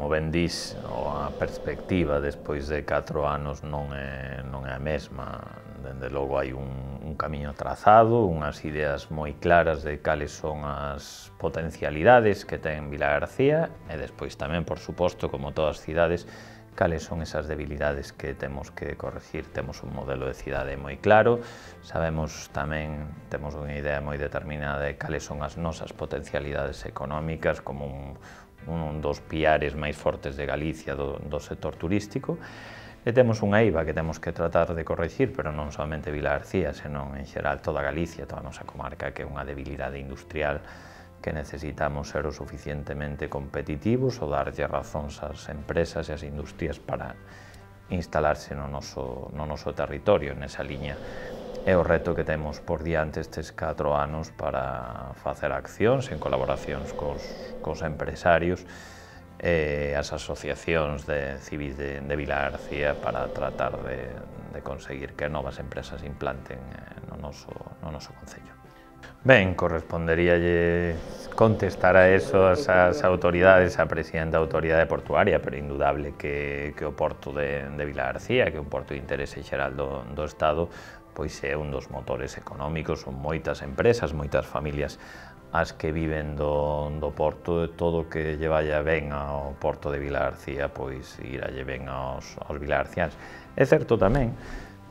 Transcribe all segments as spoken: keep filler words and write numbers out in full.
como ben dís, a perspectiva despois de catro anos non é, non é a mesma. Dende logo hai un, un camiño trazado, unhas ideas moi claras de cales son as potencialidades que ten Vilagarcía e despois tamén, por suposto, como todas as cidades, cales son esas debilidades que temos que corregir. Temos un modelo de cidade moi claro, sabemos tamén, temos unha idea moi determinada de cales son as nosas potencialidades económicas como un, un dos piares máis fortes de Galicia do, do sector turístico, e temos unha eiva que temos que tratar de corregir, pero non somente Vilagarcía, senón en xeral toda Galicia, toda a nosa comarca, que é unha debilidade industrial que necesitamos ser o suficientemente competitivos ou darlle razóns ás empresas e ás industrias para instalarse no noso, no noso territorio. Nesa liña é o reto que temos por diante estes catro anos para facer accións en colaboracións cos, cos empresarios e as asociacións de civis de, de Vilagarcía para tratar de, de conseguir que novas empresas implanten no noso, no noso concello. Ben, corresponderíalle contestar a eso as, as autoridades, a presidenta da autoridade portuaria, pero indudable que, que o porto de, de Vilagarcía, que é un porto de interese xeral do, do Estado, pois é un dos motores económicos, son moitas empresas, moitas familias as que viven do, do porto, e todo o que lle vaya ben ao porto de Vilagarcía, pois iralle ben aos, aos vilagarciáns. É certo tamén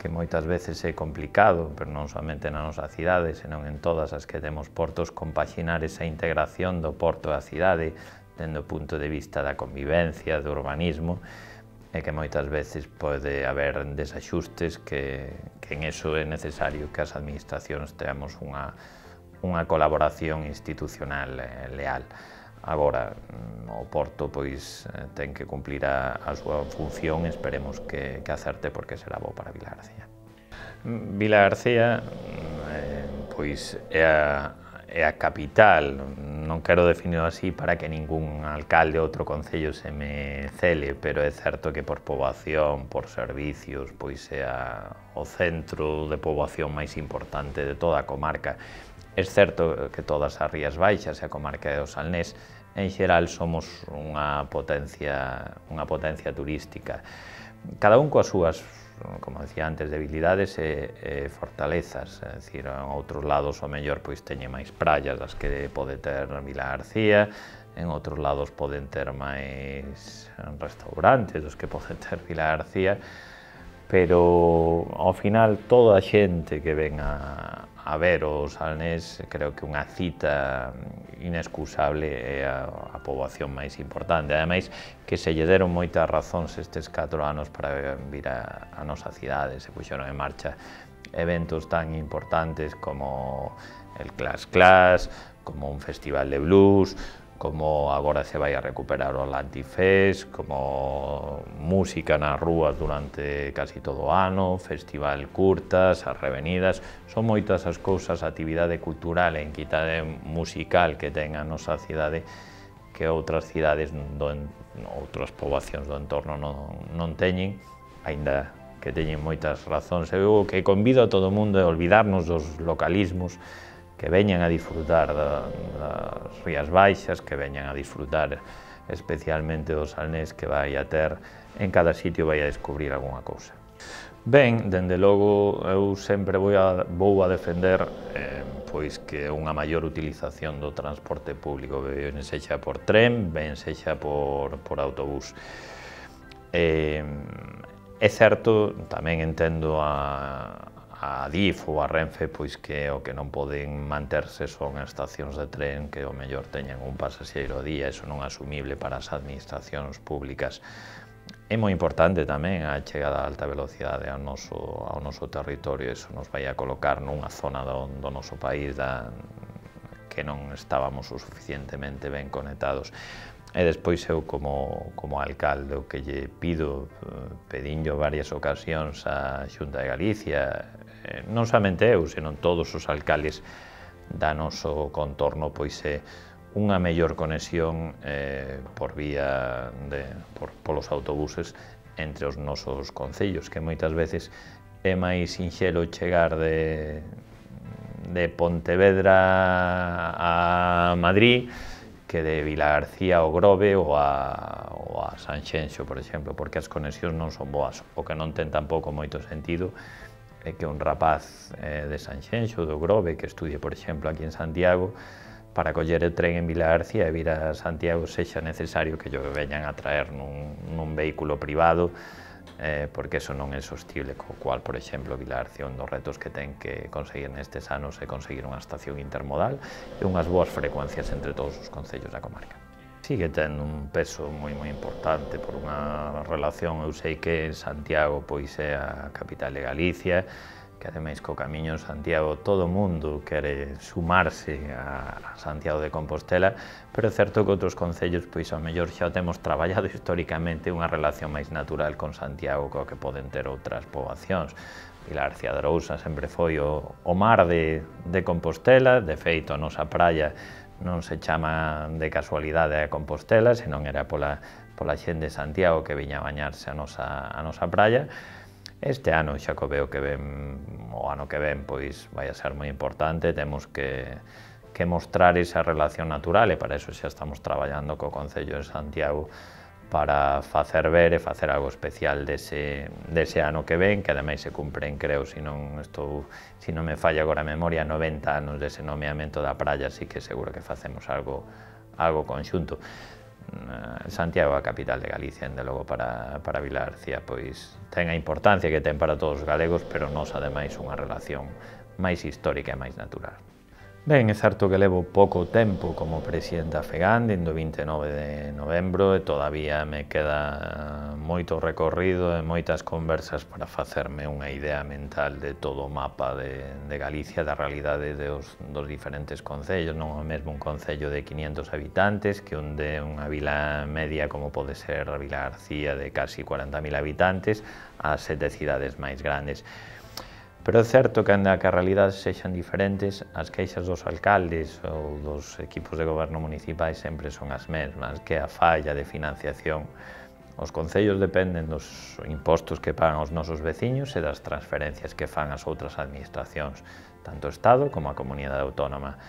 que moitas veces é complicado, pero non somente na nosa cidade, senón en todas as que temos portos, compaxinar esa integración do porto e a cidade dende o punto de vista da convivencia, do urbanismo, e que moitas veces pode haber desaxustes que, que en eso é necesario que as administracións teamos unha unha colaboración institucional eh, leal. Agora, o Porto pois ten que cumplir a, a súa función, esperemos que, que acerte porque será bo para Vilagarcía. Vilagarcía eh, pois é a, é a capital, non quero definirlo así para que ningún alcalde ou outro concello se me cele, pero é certo que por poboación, por servicios, pois é a, o centro de poboación máis importante de toda a comarca. É certo que todas as Rías Baixas e a comarca do Salnés, en xeral, somos unha potencia, unha potencia turística. Cada un coas súas, como decía antes, debilidades e, e fortalezas. É dicir, en outros lados, o mellor, pois teñe máis praias das que pode ter Vilagarcía, en outros lados poden ter máis restaurantes dos que pode ter Vilagarcía, pero ao final toda a xente que ven a, a ver o Salnés, creo que unha cita inexcusable é a, a poboación máis importante. Ademais, que se lle deron moitas razóns estes catro anos para vir a, a nosa cidade, se puxeron en marcha eventos tan importantes como el Clash Clash, como un festival de blues, como agora se vai a recuperar o Atlantifest, como música nas rúas durante casi todo o ano, festival curtas, as revenidas, son moitas as cousas, a actividade cultural e a entidade musical que ten a nosa cidade que outras cidades, do, outras poboacións do entorno non, non teñen, aínda que teñen moitas razóns. Eu que convido a todo o mundo a olvidarnos dos localismos, que veñan a disfrutar da, das Rías Baixas, que veñan a disfrutar especialmente do Salnés, que vai a ter, en cada sitio vai a descubrir algunha cousa. Ben, dende logo, eu sempre vou a, vou a defender eh, pois que unha maior utilización do transporte público, ben sexa por tren, ben sexa por, por autobús. Eh, é certo, tamén entendo a a Adif ou a Renfe, pois que o que non poden manterse son estacións de tren que o mellor teñan un pasaxeiro ao día, iso non é asumible para as administracións públicas. É moi importante tamén a chegada a alta velocidade ao noso, ao noso territorio, iso nos vai a colocar nunha zona do, do noso país da, que non estábamos o suficientemente ben conectados. E despois eu como, como alcalde o que lle pido, pedinllo varias ocasións á Xunta de Galicia, non somente eu, senón todos os alcaldes da noso contorno, pois é unha mellor conexión eh, por vía de, por, polos autobuses entre os nosos concellos, que moitas veces é máis sinxelo chegar de, de Pontevedra a Madrid que de Vilagarcía ao Grove ou a, ou ou a Sanxenxo, por exemplo, porque as conexións non son boas. O que non ten tampouco moito sentido é que un rapaz eh, de Sanxenxo, do Grove, que estudie, por exemplo, aquí en Santiago, para coller o tren en Vila García e vir a Santiago sexa necesario que yo veñan a traer nun, nun vehículo privado, eh, porque eso non é sostible, co cual, por exemplo, Vila García, un dos retos que ten que conseguir nestes anos é conseguir unha estación intermodal e unhas boas frecuencias entre todos os concellos da comarca. Sigue tendo un peso moi moi importante por unha relación, eu sei que Santiago pois é a capital de Galicia, que ademais co Camiño de Santiago todo o mundo quere sumarse a Santiago de Compostela, pero é certo que outros concellos pois ao mellor xa temos traballado históricamente unha relación máis natural con Santiago co que poden ter outras poboacións. Vilar García de Arousa sempre foi o, o mar de, de Compostela, de feito a nosa praia non se chama de casualidade a Compostela, senón era pola, pola xente de Santiago que viña a bañarse a nosa, a nosa praia. Este ano xa co veo que ven, o ano que ven, pois vai a ser moi importante, temos que, que mostrar esa relación natural e para eso xa estamos traballando co Concello de Santiago para facer ver e facer algo especial dese, dese ano que ven, que ademais se cumpren, creo, se non, estou, se non me falla agora a memoria, noventa anos dese nomeamento da praia, así que seguro que facemos algo, algo conxunto. Santiago é a capital de Galicia, ende logo para, para Vila García, pois ten a importancia que ten para todos os galegos, pero nos ademais unha relación máis histórica e máis natural. Ben, é certo que levo pouco tempo como presidente da FEGAN, dende o vinte e nove de novembro, e todavía me queda moito recorrido e moitas conversas para facerme unha idea mental de todo o mapa de, de Galicia, da realidade dos, dos diferentes concellos, non é mesmo un concello de quinientos habitantes que un de unha vila media como pode ser a Vila García de casi cuarenta mil habitantes ás sete cidades máis grandes. Pero é certo que, anda que as realidades sexan diferentes, as queixas dos alcaldes ou dos equipos de goberno municipais sempre son as mesmas, que é a falla de financiación. Os concellos dependen dos impostos que pagan os nosos veciños e das transferencias que fan as outras administracións, tanto o Estado como a comunidade autónoma.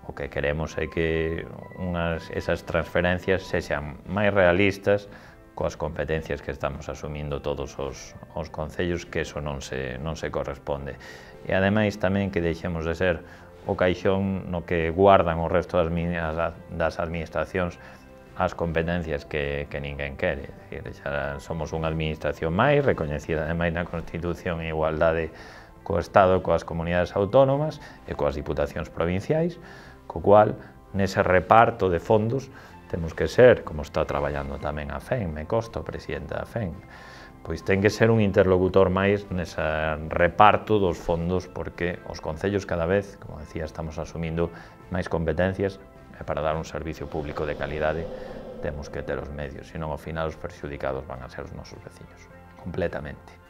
O que queremos é que unhas, esas transferencias sexan máis realistas coas competencias que estamos asumindo todos os, os concellos, que eso non se, non se corresponde. E ademais tamén que deixemos de ser o caixón no que guardan o resto das, das administracións as competencias que, que ninguén quere. É dicir, xa somos unha administración máis, recoñecida ademais na Constitución en igualdade co Estado, coas comunidades autónomas e coas diputacións provinciais, co cual, nese reparto de fondos, temos que ser, como está traballando tamén a FEN, me consta, o presidente da FEN, pois ten que ser un interlocutor máis nese reparto dos fondos, porque os concellos cada vez, como decía, estamos asumindo máis competencias e para dar un servicio público de calidade temos que ter os medios, senón ao final os perxudicados van a ser os nosos veciños, completamente.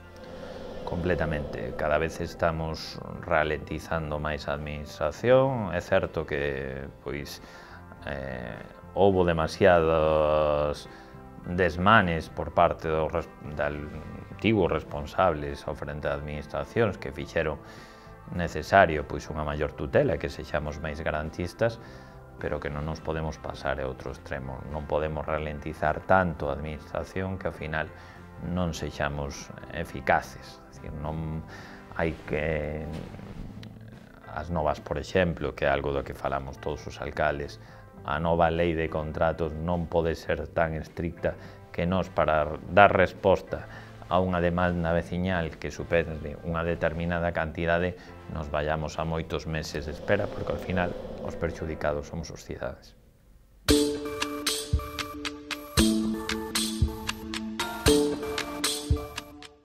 Completamente. Cada vez estamos ralentizando máis a administración, é certo que, pois, eh, houbo demasiados desmanes por parte dos antigos responsables ao frente das administracións que fixeron necesario pois unha maior tutela, que sexamos máis garantistas, pero que non nos podemos pasar a outro extremo. Non podemos ralentizar tanto a administración que ao final non sexamos eficaces. É dicir, non hai que as novas, por exemplo, que é algo do que falamos todos os alcaldes, a nova lei de contratos non pode ser tan estricta que nós, para dar resposta a unha demanda veciñal que supere unha determinada cantidade, nos vayamos a moitos meses de espera, porque ao final os perxudicados somos os cidades.